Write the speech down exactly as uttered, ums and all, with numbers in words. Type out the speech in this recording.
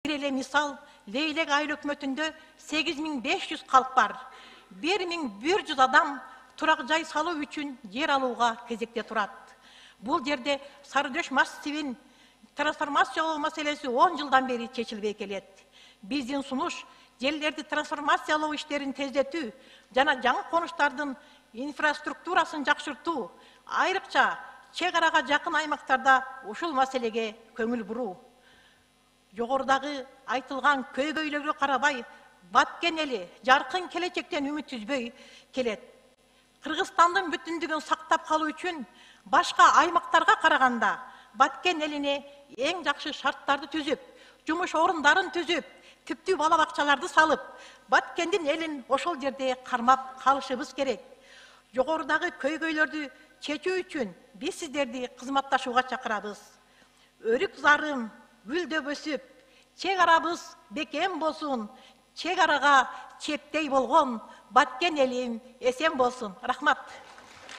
Бир эле мисал, Лейлек айыл өкмөтүндө сегиз миң беш жүз калк бар. бир миң бир жүз адам турак жай салуу үчүн жер алууга кезекте турат. Бул жерде Сарыдөш массивин трансформациялоо маселеси он жылдан бери чечилбей келет. Биздин сунуш жерлерди трансформациялоо иштерин тездетүү жана жаңы конуштардын инфраструктурасын жакшыртуу, айрыкча чек арага жакын аймактарда ушул маселеге көңүл буруу. Жогорудагы айтылган көйгөйлөргө карабай, Баткен эли жаркын келечектен үмүт үзбөй келет. Кыргызстандын бүтүндүгүн сактап калуу үчүн башка аймактарга караганда Баткен элине эң жакшы шарттарды түзүп, жумуш орундарын түзүп, типтүү бала бакчаларды салып, Баткендин элин ошол жерде кармап калышыбыз керек. Жогорудагы көйгөйлөрдү чечүү үчүн биз сиздерди кызматташууга чакырабыз. Өрүк зарым гүлдөп өсүп, чек арабыз бекем болсун, чек арага чептей болгон Баткен элим эсен болсун. Рахмат.